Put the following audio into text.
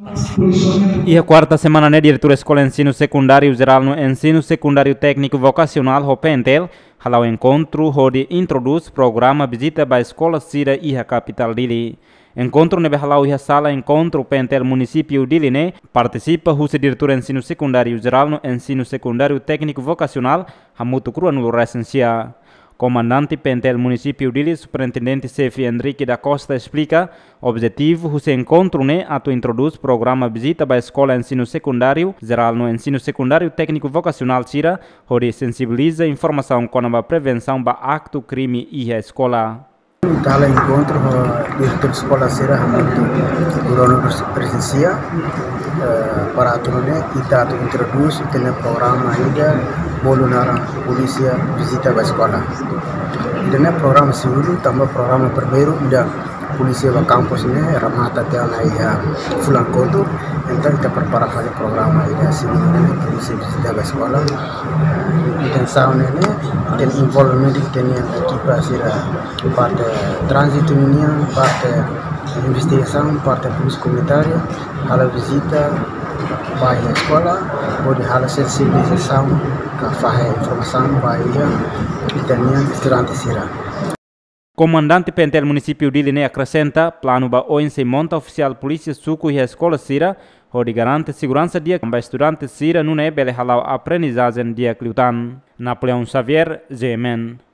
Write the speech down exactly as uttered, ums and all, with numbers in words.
Iha kuarta semana ne'e, Diretór Eskola Ensinu Sekundáriu Jerál no Ensinu Sekundáriu Tékniku Vokasionál ho PNTL hala'o enkontru hodi introdús programa vizita ba eskola sira iha kapitál Dili. Enkontru ne'ebé hala'o iha sala enkontru PNTL Munisípiu Dili ne'e partisipa husi Diretór Ensinu Sekundáriu Jerál no Ensinu Sekundáriu Tékniku Vokasionál hamutuk ruanulu resin sia. Komandante PNTL Munisípiu Dili, Superintendente Xefe Henrique da Costa, esplika objetivu husi enkontru ne'e atu introdús programa vizita ba eskola ensinu sekundáriu jerál no ensinu sekundáriu tékniku vokasionál sira, hodi sensibiliza informasaun kona-ba prevensaun ba aktu krime iha eskola. Ita hala'o enkontru ho diretór eskola sira hamutuk ruanulu resin sia, eh, para atu nune'e ita atu introdús ita-nia programa ida bolu naran polísia vizita ba eskola. Ida-ne'e programa segundu, tanba programa primeiru ida polísia ba kampus ne'e remata tiha ona iha fulan kotuk, entaun ita prepara fali programa ida segundu ne'e polísia vizita ba eskola. Intensaun ne'e, ne'e, ita-nia envolvimentu ita-nia ekipa sira parte tránzitu nian, parte investigasaun, parte polísia komunitária, hala'o vizita ba iha eskola, hodi hala'o sensibilizasaun ka fahe informasaun ba iha ita-nia estudante sira. Komandante PNTL Munisípiu Dili ne'e akresenta, planu ba oin sei monta ofisiál polísia suku iha eskola sira, hodi garante seguransa di'ak ba estudante sira nune'e bele hala'o aprendizajen di'ak liután. Napoleão Xavier, GMN.